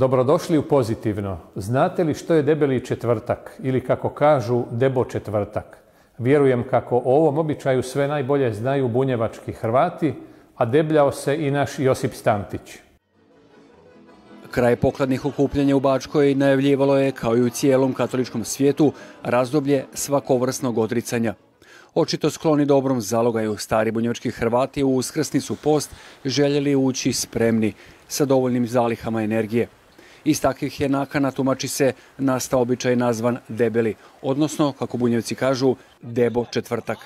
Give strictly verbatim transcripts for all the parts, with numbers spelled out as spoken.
Dobrodošli u Pozitivno. Znate li što je debeli četvrtak ili kako kažu debo četvrtak? Vjerujem kako o ovom običaju sve najbolje znaju bunjevački Hrvati, a debljao se i naš Josip Stantić. Kraj pokladnih okupljanja u Bačkoj najavljivalo je, kao i u cijelom katoličkom svijetu, razdoblje svakovrsnog odricanja. Očito skloni dobrom zalogaju, stari bunjevački Hrvati u uskrsnicu post željeli ući spremni, sa dovoljnim zalihama energije. Iz takvih je nakana, tumači se, nastao običaj nazvan debeli, odnosno, kako bunjevci kažu, debo četvrtak.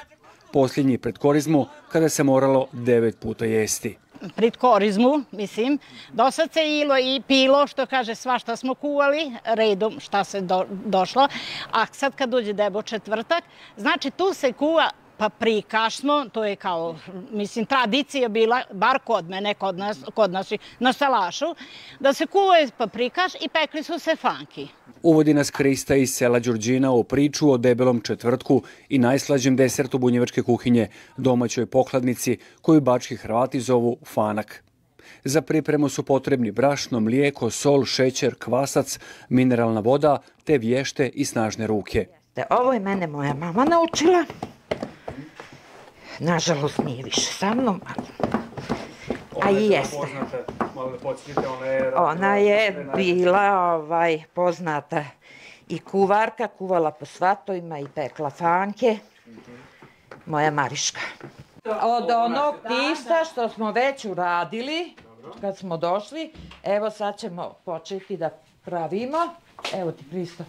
Posljednji pred korizmu, kada se moralo devet puta jesti. Pred korizmu, mislim, do sad se ilo i pilo, što kaže, svašta smo kuvali, redom šta se do, došlo, a sad kad dođe debo četvrtak, znači tu se kuva paprikaš smo, to je kao, mislim, tradicija bila, bar kod mene, kod nas, kod nas na salašu, da se kuvaju paprikaš i pekli su se fanki. Uvodi nas Krista iz sela Đurđina u priču o debelom četvrtku i najslađem desertu bunjevačke kuhinje, domaćoj pokladnici, koju bački Hrvati zovu fanak. Za pripremu su potrebni brašno, mlijeko, sol, šećer, kvasac, mineralna voda te vješte i snažne ruke. Ovo je mene moja mama naučila. Nažalost nije više sa mnom, a i jeste. Ona je bila ovaj, poznata i kuvarka, kuvala po svatovima i pekla fanke. Moja Mariška. Od onog tista što smo već uradili, kad smo došli, evo sad ćemo početi da pravimo. Evo ti Kristo.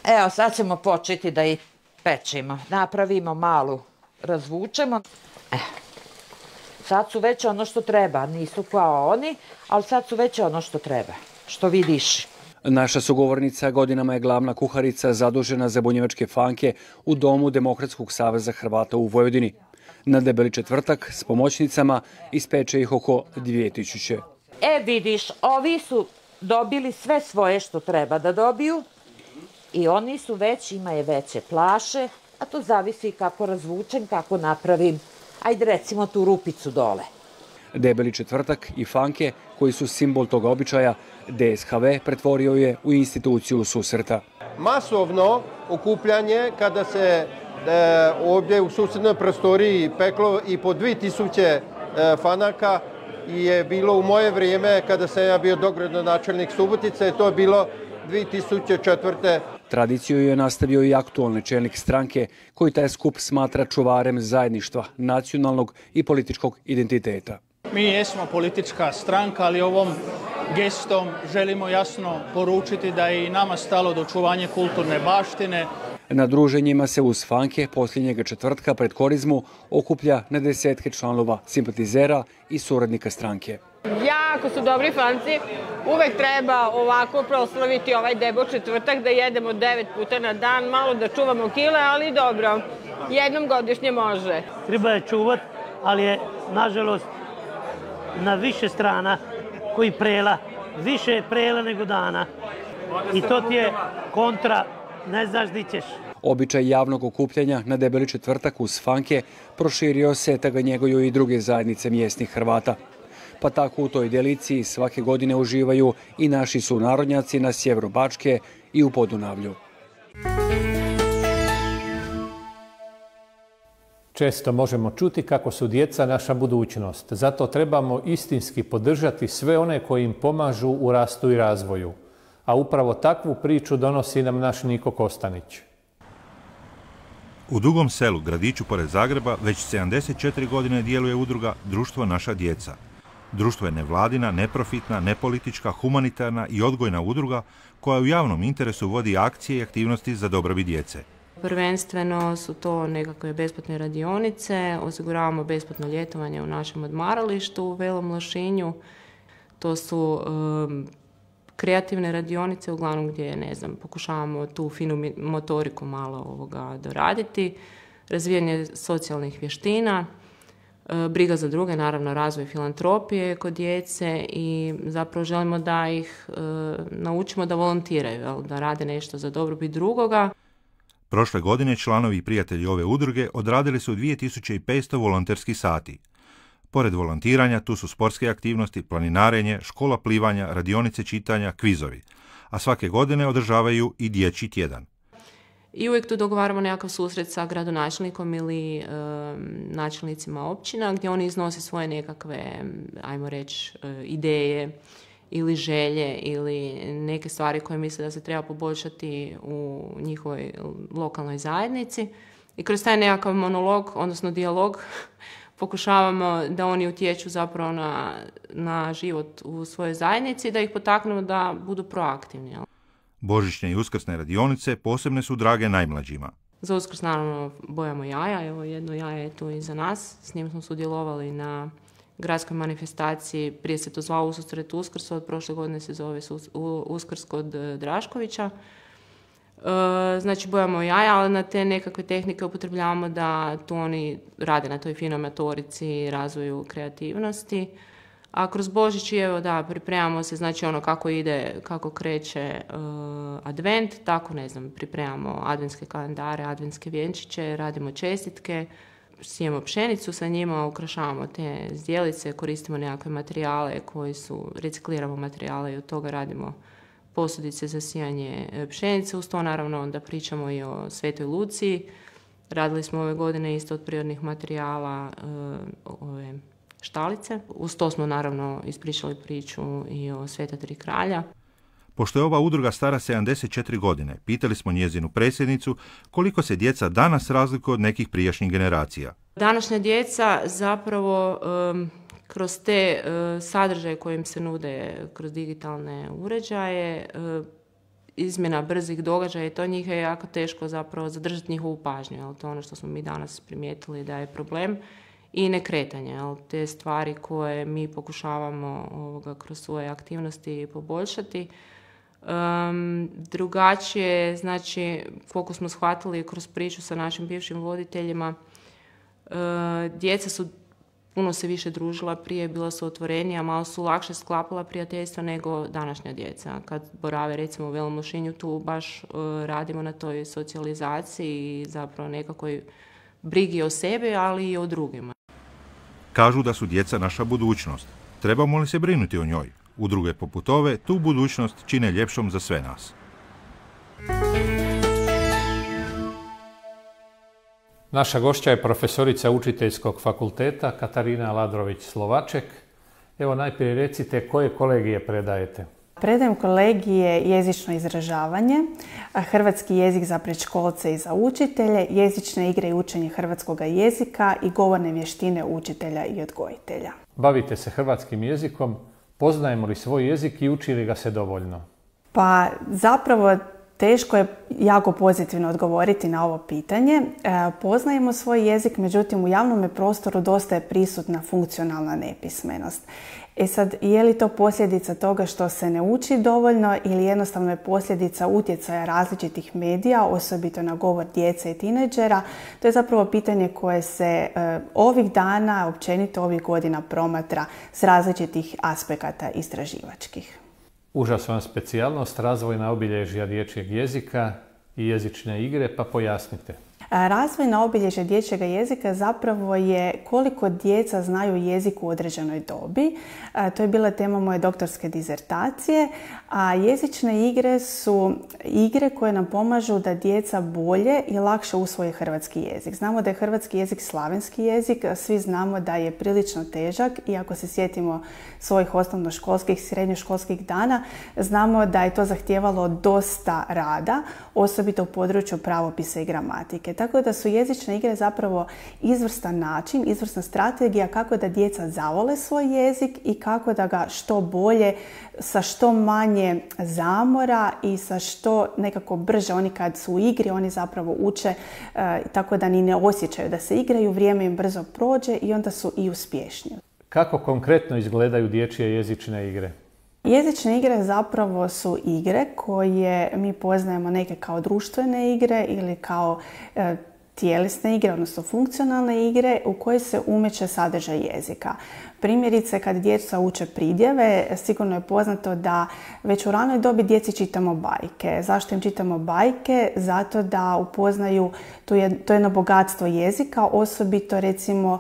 Evo sad ćemo početi da i pečemo. Napravimo malu, razvučemo. Eh. Sad su već ono što treba, nisu kao oni, ali sad su već ono što treba, što vidiš. Naša sugovornica godinama je glavna kuharica zadužena za bunjevačke fanke u Domu Demokratskog saveza Hrvata u Vojvodini. Na debeli četvrtak s pomoćnicama ispeče ih oko dvije tisuće. E vidiš, ovi su dobili sve svoje što treba da dobiju i oni su već, imaju veće plaše, a to zavisi kako razvučem, kako napravim. Ajde recimo tu rupicu dole. Debeli četvrtak i fanke, koji su simbol toga običaja, D S H V pretvorio je u instituciju susreta. Masovno okupljanje kada se e, ovdje u susretnoj prostoriji peklo i po dvije tisuće e, fanaka je bilo u moje vrijeme kada sam ja bio dogradonačelnik Subotice, to je bilo dvije tisuće četvrte. Tradiciju je nastavio i aktualni čelnik stranke koji taj skup smatra čuvarem zajedništva, nacionalnog i političkog identiteta. Mi jesmo politička stranka, ali ovom gestom želimo jasno poručiti da je i nama stalo do očuvanja kulturne baštine. Na druženjima se uz fanke posljednjega četvrtka pred korizmu okuplja na desetke članova, simpatizera i suradnika stranke. Jako su dobri fanci, uvek treba ovako proslaviti ovaj debo četvrtak, da jedemo devet puta na dan, malo da čuvamo kile, ali dobro, jednom godišnje može. Treba je čuvat, ali je, nažalost, na više strana koji prela, više je prela nego dana i to ti je kontra, ne znaš di ćeš. Običaj javnog okupljanja na debeli četvrtak uz fanke proširio se, te ga njeguju i druge zajednice mjesnih Hrvata. Pa tako u toj deliciji svake godine uživaju i naši sunarodnjaci na sjeveru Bačke i u Podunavlju. Često možemo čuti kako su djeca naša budućnost. Zato trebamo istinski podržati sve one koji im pomažu u rastu i razvoju. A upravo takvu priču donosi nam naš Niko Kostanić. U Dugom Selu, gradiću pored Zagreba, već sedamdeset četiri godine djeluje udruga Društvo Naša djeca. Društvo je nevladina, neprofitna, nepolitička, humanitarna i odgojna udruga koja u javnom interesu vodi akcije i aktivnosti za dobrobit djece. Prvenstveno su to nekakve besplatne radionice, osiguravamo besplatno ljetovanje u našem odmaralištu u Velom Lošinju. To su um, kreativne radionice, uglavnom gdje, ne znam, pokušavamo tu finu motoriku malo ovoga doraditi, razvijanje socijalnih vještina, briga za druge, naravno razvoj filantropije kod djece i zapravo želimo da ih e, naučimo da volontiraju, jel, da rade nešto za dobrobit drugoga. Prošle godine članovi i prijatelji ove udruge odradili su dvije tisuće petsto volonterskih sati. Pored volontiranja, tu su sportske aktivnosti, planinarenje, škola plivanja, radionice čitanja, kvizovi. A svake godine održavaju i dječji tjedan. I uvijek tu dogovaramo nekakav susret sa gradonačelnikom ili e, načelnicima općina gdje oni iznose svoje nekakve, ajmo reći, e, ideje ili želje ili neke stvari koje misle da se treba poboljšati u njihovoj lokalnoj zajednici. I kroz taj nekakav monolog, odnosno dijalog, pokušavamo da oni utječu zapravo na, na život u svojoj zajednici, da ih potaknemo da budu proaktivni. Božićne i uskrsne radionice posebne su drage najmlađima. Za Uskrs naravno bojamo jaja, evo jedno jaje je tu iza nas, s njim smo sudjelovali na gradskoj manifestaciji, prije se to zvao Ususret Uskrs, od prošle godine se zove Uskrs kod Draškovića. Znači bojamo jaja, ali na te nekakve tehnike upotrebljavamo da tu oni rade na toj finoj motorici, razvoju kreativnosti. A kroz Božić, evo da, pripremamo se, znači ono kako ide, kako kreće uh, advent, tako ne znam, pripremamo adventske kalendare, adventske vjenčiće, radimo čestitke, sijemo pšenicu sa njima, ukrašavamo te zdjelice, koristimo nekakve materijale koji su, recikliramo materijale i od toga radimo posudice za sijanje pšenice. Uz to naravno onda pričamo i o Svetoj Luciji. Radili smo ove godine isto od prirodnih materijala uh, ove štalice. Uz to smo naravno ispričali priču i o Sveta Tri kralja. Pošto je ova udruga stara sedamdeset četiri godine, pitali smo njezinu predsjednicu koliko se djeca danas razlikuju od nekih prijašnjih generacija. Današnja djeca zapravo um, kroz te uh, sadržaje koje im se nude kroz digitalne uređaje, uh, izmjena brzih događaja i to njih je jako teško zapravo zadržati njihovu pažnju. Jel? To je ono što smo mi danas primijetili da je problem. I nekretanje, jel? Te stvari koje mi pokušavamo ovoga, kroz svoje aktivnosti poboljšati. Um, drugačije, znači, koliko smo shvatili kroz priču sa našim bivšim voditeljima, uh, djeca su puno se više družila prije, bila su otvorenija, malo su lakše sklapala prijateljstva nego današnja djeca. Kad borave recimo u Velom Lošinju, tu baš uh, radimo na toj socijalizaciji i zapravo nekakvoj brigi o sebi, ali i o drugima. Kažu da su djeca naša budućnost. Trebamo li se brinuti o njoj? Udruge poput ove tu budućnost čine ljepšom za sve nas. Naša gošća je profesorica Učiteljskog fakulteta Katarina Ladrović-Slovaček. Evo najprije recite koje kolegije predajete. Predajem kolegije jezično izražavanje, hrvatski jezik za predškolce i za učitelje, jezične igre i učenje hrvatskog jezika i govorne vještine učitelja i odgojitelja. Bavite se hrvatskim jezikom, poznajemo li svoj jezik i uči li ga se dovoljno? Pa zapravo teško je jako pozitivno odgovoriti na ovo pitanje. E, poznajemo svoj jezik, međutim u javnom prostoru dosta je prisutna funkcionalna nepismenost. E sad, je li to posljedica toga što se ne uči dovoljno ili jednostavno je posljedica utjecaja različitih medija, osobito na govor djece i tinejdžera? To je zapravo pitanje koje se e, ovih dana, općenito ovih godina promatra s različitih aspekata istraživačkih. Užasna specijalnost, razvojna obilježja dječjeg jezika i jezične igre, pa pojasnite. Razvojna obilježja dječjeg jezika zapravo je koliko djeca znaju jezik u određenoj dobi. To je bila tema moje doktorske dizertacije. A jezične igre su igre koje nam pomažu da djeca bolje i lakše usvoje hrvatski jezik. Znamo da je hrvatski jezik slavenski jezik, svi znamo da je prilično težak i ako se sjetimo svojih osnovnoškolskih i srednjoškolskih dana, znamo da je to zahtijevalo dosta rada, osobito u području pravopisa i gramatike. Tako da su jezične igre zapravo izvrstan način, izvrsna strategija kako da djeca zavole svoj jezik i kako da ga što bolje, sa što manje zamora i sa što nekako brže, oni kad su u igri, oni zapravo uče e, tako da ni ne osjećaju da se igraju, vrijeme im brzo prođe i onda su i uspješniji. Kako konkretno izgledaju dječje jezične igre? Jezične igre zapravo su igre koje mi poznajemo neke kao društvene igre ili kao e, tjelesne igre, odnosno funkcionalne igre u koje se umeće sadržaj jezika. Primjerice, kad djeca uče pridjeve, sigurno je poznato da već u ranoj dobi djeci čitamo bajke. Zašto im čitamo bajke? Zato da upoznaju to jedno bogatstvo jezika, osobito recimo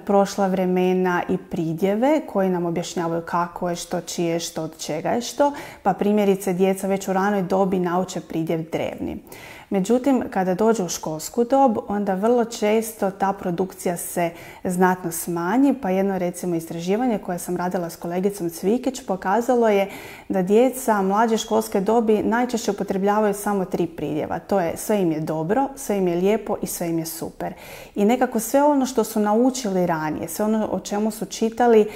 prošla vremena i pridjeve koji nam objašnjavaju kako je što, čije što, od čega je što. Pa primjerice, djeca već u ranoj dobi nauče pridjev drevni. Međutim, kada dođu u školsku dob, onda vrlo često ta produkcija se znatno smanji, pa jedno recimo istraživanje koje sam radila s kolegicom Cvikić pokazalo je da djeca mlađe školske dobi najčešće upotrebljavaju samo tri pridjeva. To je sve im je dobro, sve im je lijepo i sve im je super. I nekako sve ono što su naučili ranije, sve ono o čemu su čitali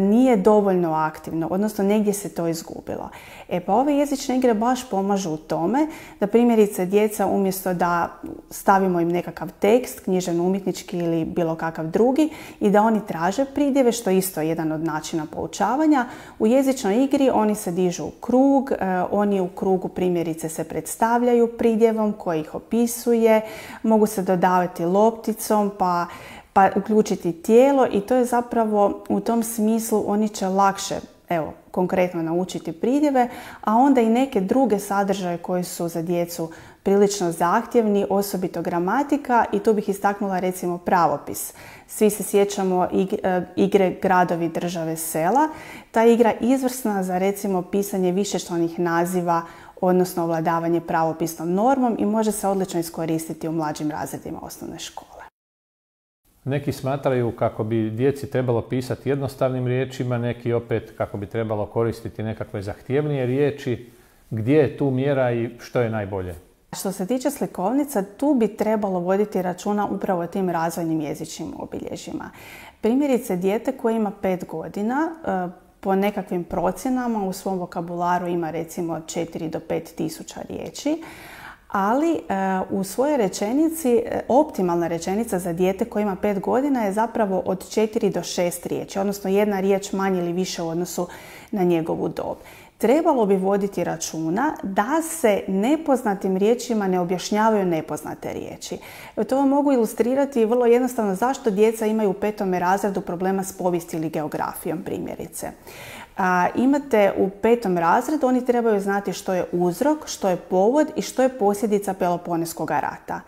nije dovoljno aktivno, odnosno negdje se to izgubilo. E pa ove jezične igre baš pomažu u tome da primjerice djeca umjesto da stavimo im nekakav tekst, književno-umjetnički ili bilo kakav drugi i da oni traže pridjeve, što je isto jedan od načina poučavanja, u jezičnoj igri oni se dižu u krug, oni u krugu primjerice se predstavljaju pridjevom koji ih opisuje, mogu se dodavati lopticom pa pa uključiti tijelo i to je zapravo u tom smislu oni će lakše, evo, konkretno naučiti pridjeve, a onda i neke druge sadržaje koji su za djecu prilično zahtjevni, osobito gramatika i tu bih istaknula recimo pravopis. Svi se sjećamo igre Gradovi, države, sela. Ta igra je izvrsna za recimo pisanje višečlanih naziva, odnosno ovladavanje pravopisnom normom i može se odlično iskoristiti u mlađim razredima osnovne škole. Neki smatraju kako bi djeci trebalo pisati jednostavnim riječima, neki opet kako bi trebalo koristiti nekakve zahtjevnije riječi. Gdje je tu mjera i što je najbolje? Što se tiče slikovnica, tu bi trebalo voditi računa upravo o tim razvojnim jezičnim obilježjima. Primjerice, dijete koje ima pet godina, po nekakvim procjenama u svom vokabularu ima recimo četiri do pet tisuća riječi, ali u svojoj rečenici, optimalna rečenica za dijete koje ima pet godina je zapravo od četiri do šest riječi, odnosno jedna riječ manje ili više u odnosu na njegovu dob. Trebalo bi voditi računa da se nepoznatim riječima ne objašnjavaju nepoznate riječi. To vam mogu ilustrirati vrlo jednostavno zašto djeca imaju u petome razredu problema s povijesti ili geografijom primjerice. A, imate u petom razredu, oni trebaju znati što je uzrok, što je povod i što je posljedica Peloponeskog rata.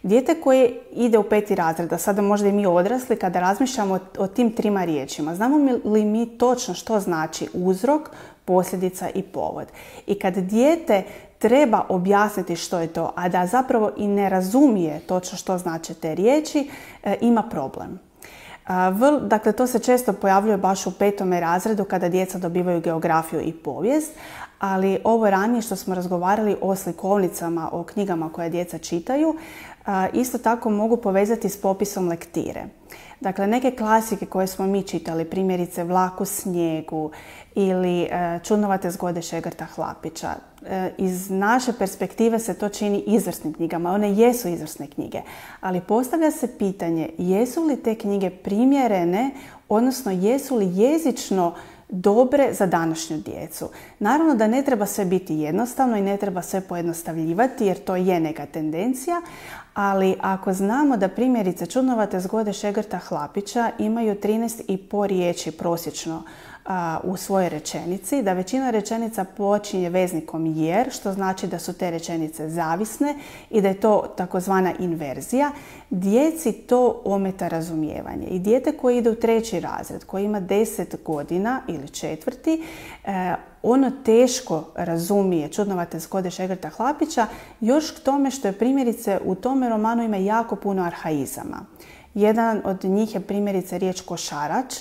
Dijete koje ide u peti razred, a sada možda i mi odrasli, kada razmišljamo o, o tim trima riječima, znamo li mi točno što znači uzrok, posljedica i povod? I kad dijete treba objasniti što je to, a da zapravo i ne razumije točno što znače te riječi, e, ima problem. Dakle, to se često pojavljuje baš u petome razredu kada djeca dobivaju geografiju i povijest, ali ovo ranije što smo razgovarali o slikovnicama, o knjigama koje djeca čitaju, isto tako mogu povezati s popisom lektire. Dakle, neke klasike koje smo mi čitali, primjerice Vlak u snijegu ili Čudnovate zgode Šegrta Hlapića, iz naše perspektive se to čini izvrsnim knjigama. One jesu izvrsne knjige, ali postavlja se pitanje jesu li te knjige primjerene, odnosno jesu li jezično dobre za današnju djecu. Naravno da ne treba sve biti jednostavno i ne treba sve pojednostavljivati jer to je neka tendencija, ali ako znamo da primjerice Čudnovate zgode Šegrta Hlapića imaju trinaest i pol riječi prosječno a, u svojoj rečenici, da većina rečenica počinje veznikom jer, što znači da su te rečenice zavisne i da je to takozvana inverzija, djeci to ometa razumijevanje. I dijete koje ide u treći razred, koji ima deset godina ili četvrti, e, ono teško razumije Čudnovate zgode Šegrta Hlapića, još k tome što je primjerice u tome romanu ima jako puno arhaizama. Jedan od njih je primjerice riječ košarač.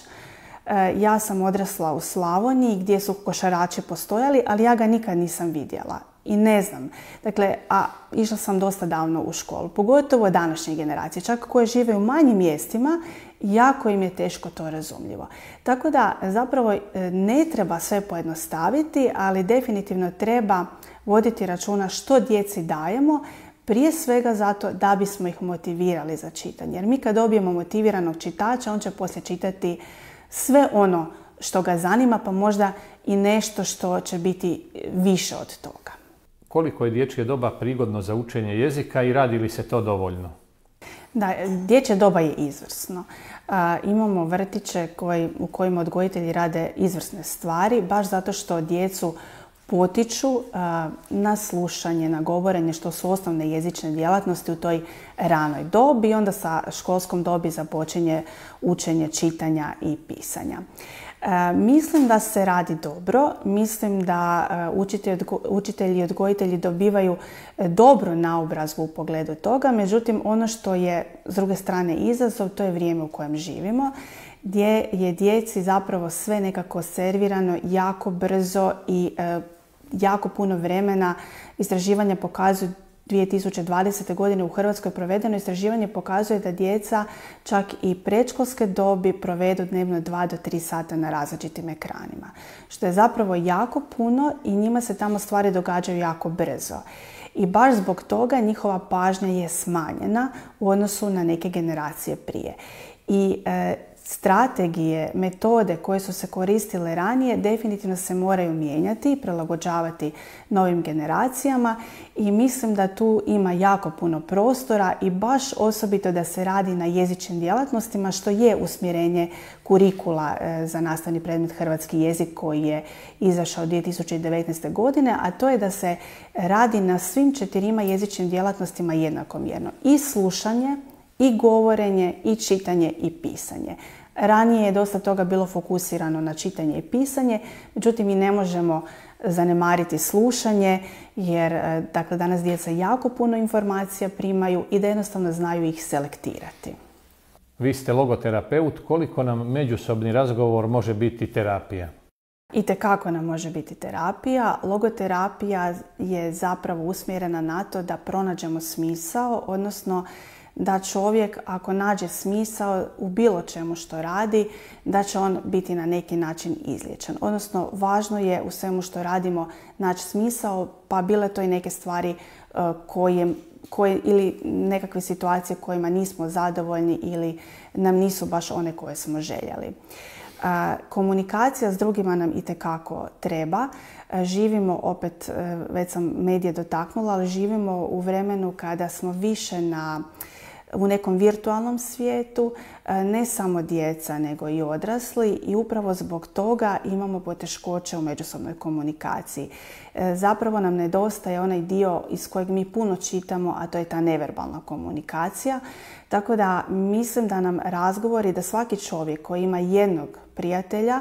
Ja sam odrasla u Slavoniji gdje su košarači postojali, ali ja ga nikad nisam vidjela i ne znam. Dakle, a išla sam dosta davno u školu, pogotovo današnje generacije, čak koje žive u manjim mjestima, jako im je teško to razumljivo. Tako da zapravo ne treba sve pojednostaviti, ali definitivno treba voditi računa što djeci dajemo, prije svega zato da bismo ih motivirali za čitanje. Jer mi kad dobijemo motiviranog čitača, on će poslije čitati sve ono što ga zanima, pa možda i nešto što će biti više od toga. Koliko je dječje doba prigodno za učenje jezika i radi li se to dovoljno? Da, dječje doba je izvrsno. A, imamo vrtiće koji, u kojima odgojitelji rade izvrsne stvari, baš zato što djecu potiču a, na slušanje, na govorenje, što su osnovne jezične djelatnosti u toj ranoj dobi i onda sa školskom dobi započinje učenje čitanja i pisanja. E, mislim da se radi dobro, mislim da učitelji i odgojitelji dobivaju dobru naobrazbu u pogledu toga, međutim ono što je s druge strane izazov, to je vrijeme u kojem živimo, gdje je djeci zapravo sve nekako servirano jako brzo i e, jako puno vremena. Istraživanja pokazuju dvije tisuće dvadesete. godine u Hrvatskoj provedeno istraživanje pokazuje da djeca čak i predškolske dobi provedu dnevno dva do tri sata na različitim ekranima. Što je zapravo jako puno i njima se tamo stvari događaju jako brzo. I baš zbog toga njihova pažnja je smanjena u odnosu na neke generacije prije. I e, strategije, metode koje su se koristile ranije definitivno se moraju mijenjati i prilagođavati novim generacijama i mislim da tu ima jako puno prostora i baš osobito da se radi na jezičnim djelatnostima, što je usmjerenje kurikula za nastavni predmet hrvatski jezik koji je izašao dvije tisuće devetnaeste. godine, a to je da se radi na svim četirima jezičnim djelatnostima jednakomjerno. I slušanje, i govorenje, i čitanje, i pisanje. Ranije je dosta toga bilo fokusirano na čitanje i pisanje, međutim mi ne možemo zanemariti slušanje jer dakle, danas djeca jako puno informacija primaju i da jednostavno znaju ih selektirati. Vi ste logoterapeut, koliko nam međusobni razgovor može biti terapija? Itekako nam može biti terapija. Logoterapija je zapravo usmjerena na to da pronađemo smisao, odnosno da čovjek ako nađe smisao u bilo čemu što radi, da će on biti na neki način izliječen. Odnosno, važno je u svemu što radimo naći smisao, pa bile to i neke stvari koje, koje ili nekakve situacije kojima nismo zadovoljni ili nam nisu baš one koje smo željeli. Komunikacija s drugima nam itekako treba. Živimo, opet, već sam medije dotaknula, ali živimo u vremenu kada smo više na u nekom virtualnom svijetu, ne samo djeca nego i odrasli i upravo zbog toga imamo poteškoće u međusobnoj komunikaciji. Zapravo nam nedostaje onaj dio iz kojeg mi puno čitamo, a to je ta neverbalna komunikacija. Tako da mislim da nam razgovori, da svaki čovjek koji ima jednog prijatelja,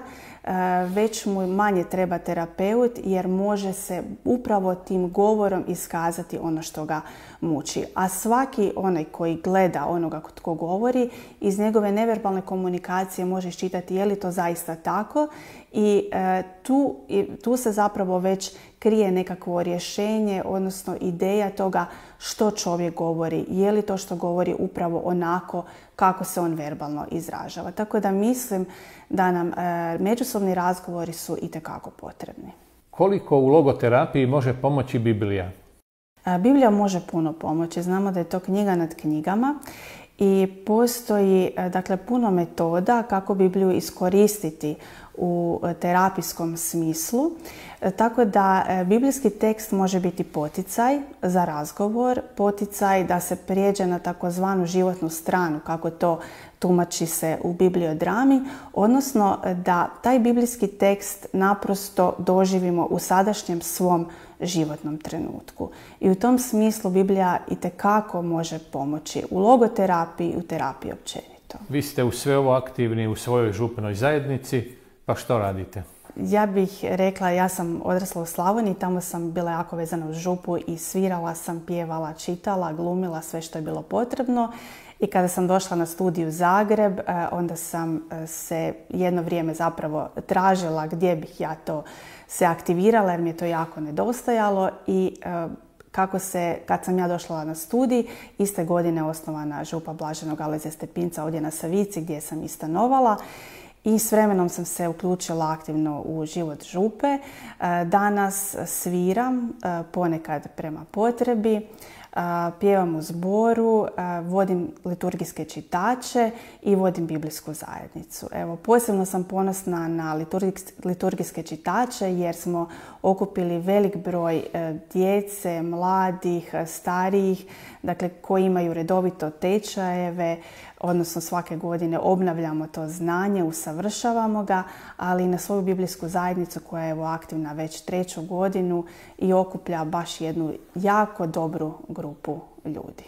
već mu manje treba terapeut jer može se upravo tim govorom iskazati ono što ga muči. A svaki onaj koji gleda onoga tko govori, iz njegove neverbalne komunikacije može iščitati je li to zaista tako i e, tu, i, tu se zapravo već krije nekakvo rješenje, odnosno ideja toga što čovjek govori, je li to što govori upravo onako kako se on verbalno izražava. Tako da mislim da nam e, međusobni razgovori su itekako potrebni. Koliko u logoterapiji može pomoći Biblija? E, Biblija može puno pomoći. Znamo da je to knjiga nad knjigama i postoji dakle, puno metoda kako Bibliju iskoristiti u terapijskom smislu. Tako da biblijski tekst može biti poticaj za razgovor, poticaj da se prijeđe na takozvanu životnu stranu, kako to tumači se u bibliodrami, odnosno da taj biblijski tekst naprosto doživimo u sadašnjem svom životnom trenutku. I u tom smislu Biblija itekako može pomoći u logoterapiji i u terapiji općenito. Vi ste u sve ovo aktivni u svojoj župnoj zajednici, pa što radite? Ja bih rekla, ja sam odrasla u Slavoniji, tamo sam bila jako vezana uz župu i svirala sam, pjevala, čitala, glumila sve što je bilo potrebno. I kada sam došla na studij u Zagreb, onda sam se jedno vrijeme zapravo tražila gdje bih ja to se aktivirala jer mi je to jako nedostajalo i kako se, kad sam ja došla na studij, iste godine osnovana župa Blaženog Alojzija Stepinca ovdje na Savici gdje sam i stanovala. I s vremenom sam se uključila aktivno u život župe. Danas sviram, ponekad prema potrebi. pjevam u zboru, vodim liturgijske čitače i vodim biblijsku zajednicu. Evo, posebno sam ponosna na liturgijske čitače jer smo okupili velik broj djece, mladih, starijih, dakle koji imaju redovito tečajeve, odnosno svake godine obnavljamo to znanje, usavršavamo ga, ali i na svoju biblijsku zajednicu koja je evo aktivna već treću godinu i okuplja baš jednu jako dobru grupu ljudi.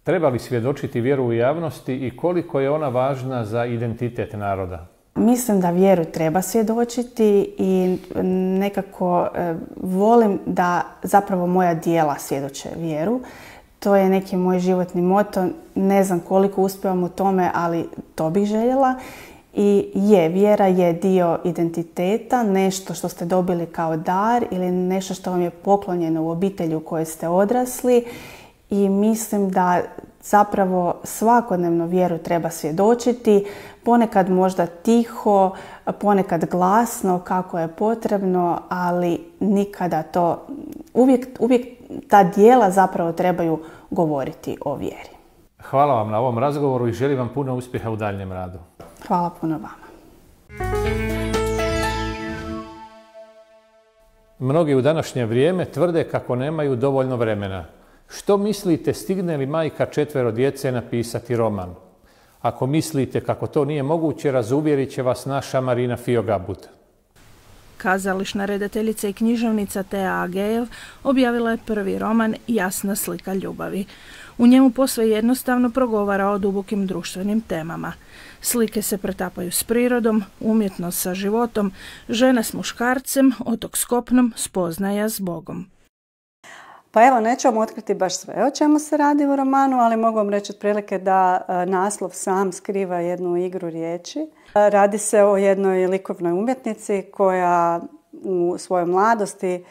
Treba li svjedočiti vjeru u javnosti i koliko je ona važna za identitet naroda? Mislim da vjeru treba svjedočiti i nekako e, volim da zapravo moja djela svjedoče vjeru. To je neki moj životni moto. Ne znam koliko uspijevam u tome, ali to bih željela. I je, vjera je dio identiteta, nešto što ste dobili kao dar ili nešto što vam je poklonjeno u obitelji u kojoj ste odrasli. I mislim da zapravo svakodnevno vjeru treba svjedočiti, ponekad možda tiho, ponekad glasno kako je potrebno, ali nikada to, uvijek, uvijek ta djela zapravo trebaju govoriti o vjeri. Hvala vam na ovom razgovoru i želim vam puno uspjeha u daljnjem radu. Hvala puno vama. Mnogi u današnje vrijeme tvrde kako nemaju dovoljno vremena. Što mislite, stigne li majka četvero djece napisati roman? Ako mislite kako to nije moguće, razuvjerit će vas naša Marina Fiogabut. Kazališna redateljica i književnica Tea Agejev objavila je prvi roman Jasna slika ljubavi. U njemu posve jednostavno progovara o dubokim društvenim temama. Slike se pretapaju s prirodom, umjetnost sa životom, žena s muškarcem, otok s kopnom, spoznaja s Bogom. Pa evo, neću vam otkriti baš sve o čemu se radi u romanu, ali mogu vam reći otprilike da naslov sam skriva jednu igru riječi. Radi se o jednoj likovnoj umjetnici koja u svojoj mladosti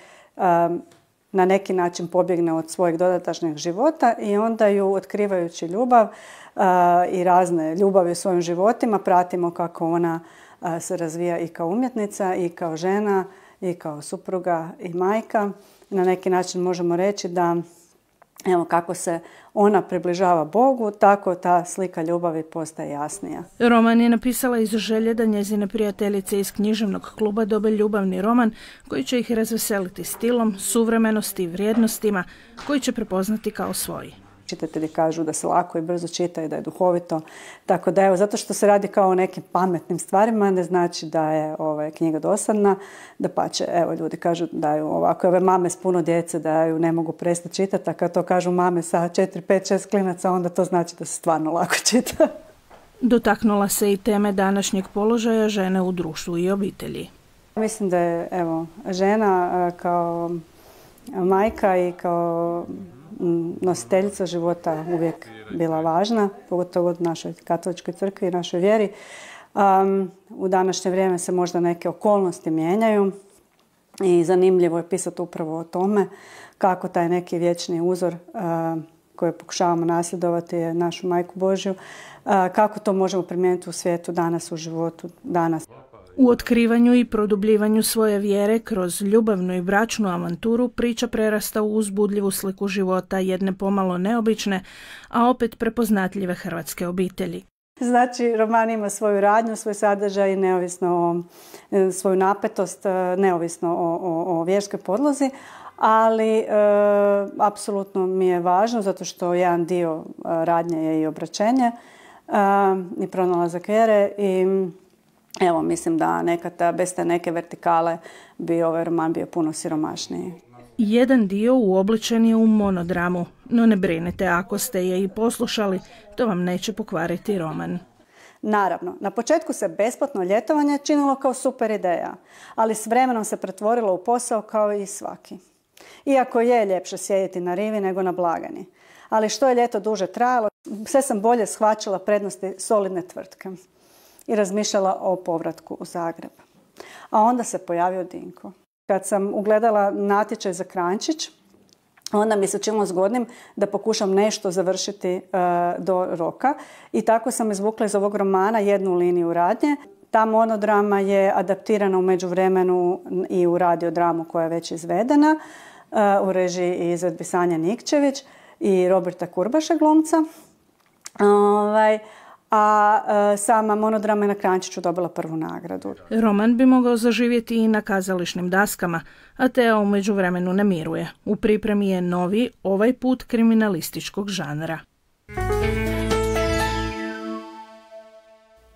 na neki način pobjegne od svojeg dodatašnjeg života i onda ju, otkrivajući ljubav i razne ljubavi u svojim životima, pratimo kako ona se razvija i kao umjetnica, i kao žena, i kao supruga i majka. Na neki način možemo reći da evo kako se ona približava Bogu, tako ta slika ljubavi postaje jasnija. Roman je napisala iz želje da njezine prijateljice iz književnog kluba dobe ljubavni roman koji će ih razveseliti stilom, suvremenosti i vrijednostima koji će prepoznati kao svoji. Čitatelji kažu da se lako i brzo čita i da je duhovito. Tako da evo, zato što se radi kao o nekim pametnim stvarima, ne znači da je ovaj, knjiga dosadna. Dapače, evo, ljudi kažu da ju ovako, ove mame s puno djece da ju ne mogu prestati čitati, a kad to kažu mame sa četiri, pet, šest klinaca, onda to znači da se stvarno lako čita. Dotaknula se i teme današnjeg položaja žene u društvu i obitelji. Mislim da je evo, žena kao majka i kao nositeljica života uvijek bila važna, pogotovo u našoj katoličkoj crkvi i našoj vjeri. Um, u današnje vrijeme se možda neke okolnosti mijenjaju i zanimljivo je pisati upravo o tome kako taj neki vječni uzor uh, koji pokušavamo nasljedovati je našu Majku Božju, uh, kako to možemo primijeniti u svijetu danas, u životu danas. U otkrivanju i produbljivanju svoje vjere kroz ljubavnu i bračnu avanturu priča prerasta u uzbudljivu sliku života jedne pomalo neobične, a opet prepoznatljive hrvatske obitelji. Znači, roman ima svoju radnju, svoj sadržaj, neovisno o svoju napetost, neovisno o, o, o vjerskoj podlozi, ali e, apsolutno mi je važno zato što jedan dio radnje je i obraćenje e, i pronalazak vjere i evo, mislim da nekad bez te neke vertikale bi ovaj roman bio puno siromašniji. Jedan dio uobličen je u monodramu, no ne brinete, ako ste je i poslušali, to vam neće pokvariti roman. Naravno, na početku se besplatno ljetovanje činilo kao super ideja, ali s vremenom se pretvorilo u posao kao i svaki. Iako je ljepše sjediti na rivi nego na blagajni. Ali što je ljeto duže trajalo, sve sam bolje shvaćala prednosti solidne tvrtke i razmišljala o povratku u Zagreb. A onda se pojavio Dinko. Kad sam ugledala natječaj za Kranjčić, onda mi se činilo zgodnim da pokušam nešto završiti uh, do roka. I tako sam izvukla iz ovog romana jednu liniju radnje. Ta monodrama je adaptirana u međuvremenu i u radiodramu koja je već izvedena uh, u režiji i izvedbi Sanja Nikčević. i Roberta Kurbaša glumca. Ovaj, a sama monodrama je na Krančiću dobila prvu nagradu. Roman bi mogao zaživjeti i na kazališnim daskama, a Teo u međuvremenu ne miruje. U pripremi je novi, ovaj put kriminalističkog žanra.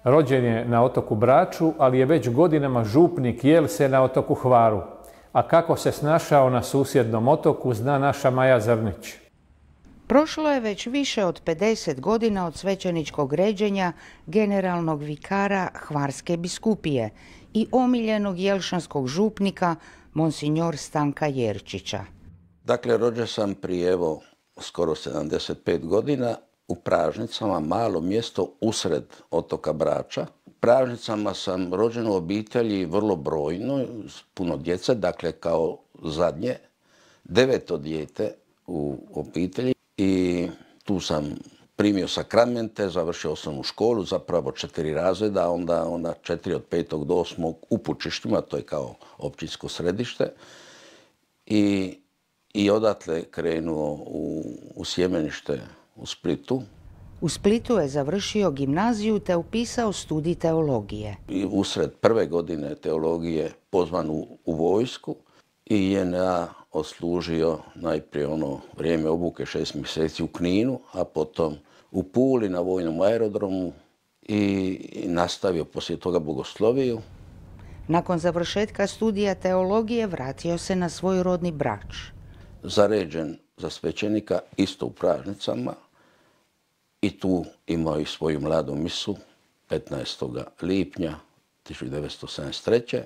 Rođen je na otoku Braču, ali je već godinama župnik Jelse na otoku Hvaru. A kako se snašao na susjednom otoku zna naša Maja Zrnić. Prošlo je već više od pedeset godina od svećeničkog ređenja generalnog vikara Hvarske biskupije i omiljenog jelšanskog župnika monsignor Stanka Jerčića. Dakle, rođen sam prije evo skoro sedamdeset pet godina u Pražnicama, malo mjesto usred otoka Brača. U Pražnicama sam rođen u obitelji vrlo brojno, puno djece, dakle kao zadnje, deveto dijete u obitelji. I tu sam primio sakramente, završio osnovnu školu, zapravo četiri razreda, onda, onda četiri od petog do osmog u Pučištima, to je kao općinsko središte. I, i odatle krenuo u, u sjemenište u Splitu. U Splitu je završio gimnaziju te upisao studij teologije. I usred prve godine teologije pozvan u, u vojsku i J N A odslužio najprije ono vrijeme obuke šest mjeseci u Kninu, a potom u Puli na vojnom aerodromu i nastavio poslije toga bogosloviju. Nakon završetka studija teologije vratio se na svoj rodni Brač. Zaređen za svećenika isto u Pražnicama i tu imao i svoju mladu misu petnaestog lipnja tisuću devetsto sedamdeset treće.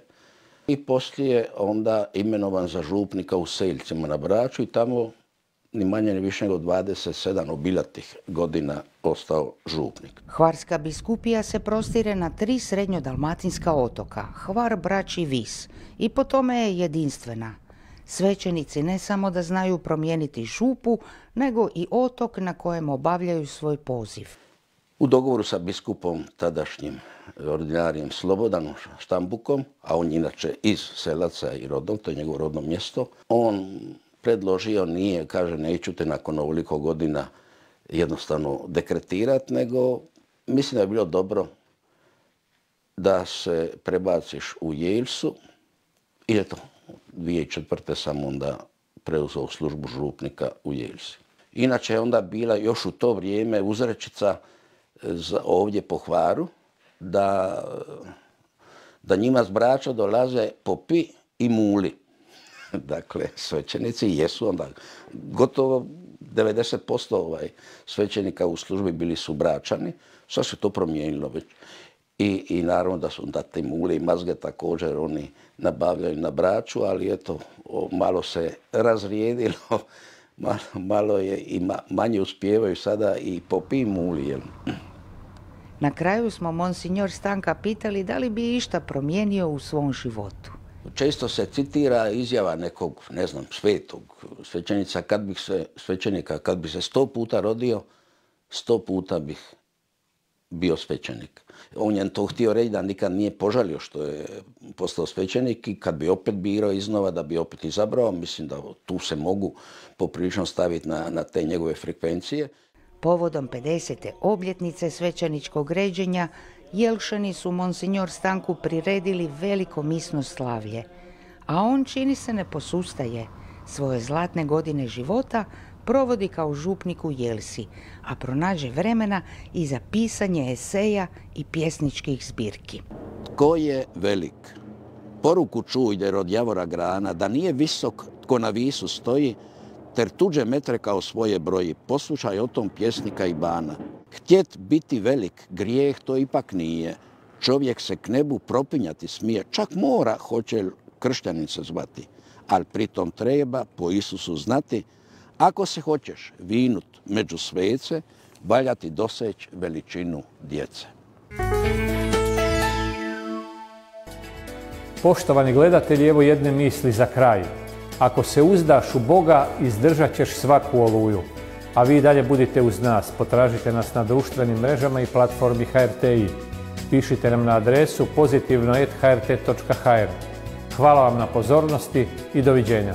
I poslije onda imenovan za župnika u Seljcima na Braču i tamo ni manje ni više nego dvadeset sedam obilatih godina ostao župnik. Hvarska biskupija se prostire na tri srednjodalmatinska otoka, Hvar, Brač i Vis, i po tome je jedinstvena. Svećenici ne samo da znaju promijeniti župu, nego i otok na kojem obavljaju svoj poziv. U dogovoru sa biskupom tadašnjim ordinarijem Slobodanom Štambukom, a on inače iz Selaca i rodnog, to je njegovo rodno mjesto, on predložio, nije, kaže, neću te nakon ovoliko godina jednostavno dekretirati, nego mislim da je bilo dobro da se prebaciš u Jelsu i eto, dvije tisuće četvrte sam onda preuzeo službu župnika u Jelsi. Inače je onda bila još u to vrijeme uzrečica ovdje po Hvaru, da, da njima s Brača dolaze popi i muli. Dakle, svećenici jesu onda gotovo devedeset posto ovaj, svećenika u službi bili su Bračani. Sad se to promijenilo već. I, i naravno da su onda te mule i mazge također oni nabavljaju na Braču, ali eto, malo se razrijedilo, malo, malo je i ma, manje uspijevaju sada i popi i muli. Jel? Na kraju smo monsignor Stanka pitali da li bi išta promijenio u svom životu. Često se citira izjava nekog, ne znam, svetog svećenica, kad bih se, svećenika, kad bi se sto puta rodio, sto puta bih bio svećenik. On je to htio reći da nikad nije požalio što je postao svećenik i kad bi opet birao iznova, da bi opet izabrao, mislim da tu se mogu poprilično staviti na, na te njegove frekvencije. Povodom pedesete obljetnice svećeničkog ređenja, Jelšani su monsignor Stanku priredili veliko misno slavlje, a on, čini se, ne posustaje. Svoje zlatne godine života provodi kao župnik u Jelsi, a pronađe vremena i za pisanje eseja i pjesničkih zbirki. Tko je velik? Poruku čujde od Javora grana, da nije visok tko na visu stoji, ter tuđe metre kao svoje broji, poslušaj o tom pjesnika i bana. Htjet biti velik, grijeh to ipak nije. Čovjek se k nebu propinjati smije, čak mora, hoće kršćanin se zvati. Ali pritom treba po Isusu znati, ako se hoćeš vinut među svece, valja ti doseć veličinu djece. Poštovani gledatelji, evo jedne misli za kraj. Ako se uzdaš u Boga, izdržat ćeš svaku oluju. A vi dalje budite uz nas. Potražite nas na društvenim mrežama i platformi H R T I. Pišite nam na adresu pozitivno et h r t točka h r. Hvala vam na pozornosti i doviđenja.